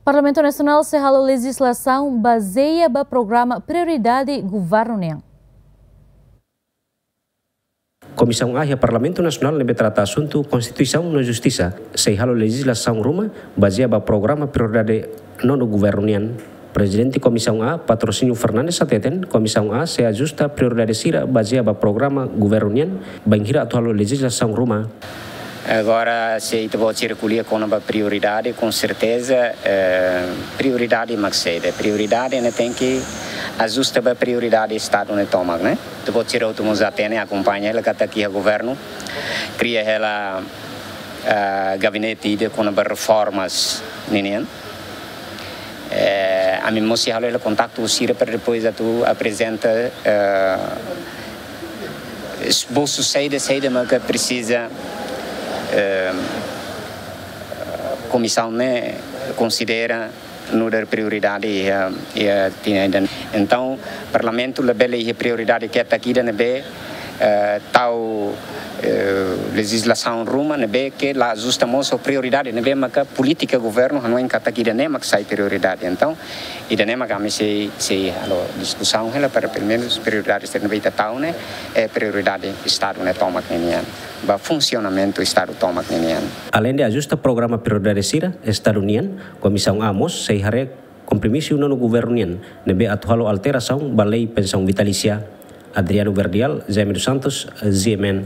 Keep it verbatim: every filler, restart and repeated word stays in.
Parlamentu Nasionál sei halo lejizlasaun bazeia ba programa prioridade governu nian. Komisaun A iha Parlamentu Nasionál ne'ebé trata asuntu Konstituisaun no Justisa sei halo lejizlasaun ruma bazeia ba programa prioridade nonu governu nian. Prezidente Komisaun A, Patrocínio Fernandes, hateten Komisaun A sei ajusta prioridade sira bazeia ba programa governu nian, bainhira atu halo lejizlasaun ruma. Agora, se ita-boot sira ko'alia kona-ba prioridade, com certeza, eh, prioridade mak saida. Prioridade ne'e tenke ajusta ba prioridade Estadu ne'e tomak, ne'e? Ita-boot sira hotu mós hatene, akompaña hela katak iha governu kria hela, eh, gabinete ida kona-ba reformas ninian. Eh, ami mós sei halo hela kontaktu sira para depois atu aprezenta, eh, esbosu saida, saida maka presiza, eh, komisaun ne'e konsidera nu'udar prioridade iha, iha tinan ida-ne'e. Entaun, Parlamentu labele iha prioridade ketak ida ne'ebé, eh, tau, eh, lejizlasaun ruma ne'ebé ke la ajusta mós ho prioridade ne'ebé maka polítika governu hanoin katak ida-ne'e mak sai prioridade. Entaun, ida-ne'e mak ami sei, sei halo diskusaun hela para pelumenus prioridade sira ne'ebé ita tau ne'e, eh, prioridade Estadu ne'e tomak ninian. Ba funsionamentu Estadu tomak ninian. Aleinde ajusta programa prioridade sira Estadu nian, Komisaun A mós sei haree kompromisu nonu governu nian ne'ebé atu halo alterasaun ba lei pensaun vitalísia. Adriano Verdial, Jaime dos Santos, G M N.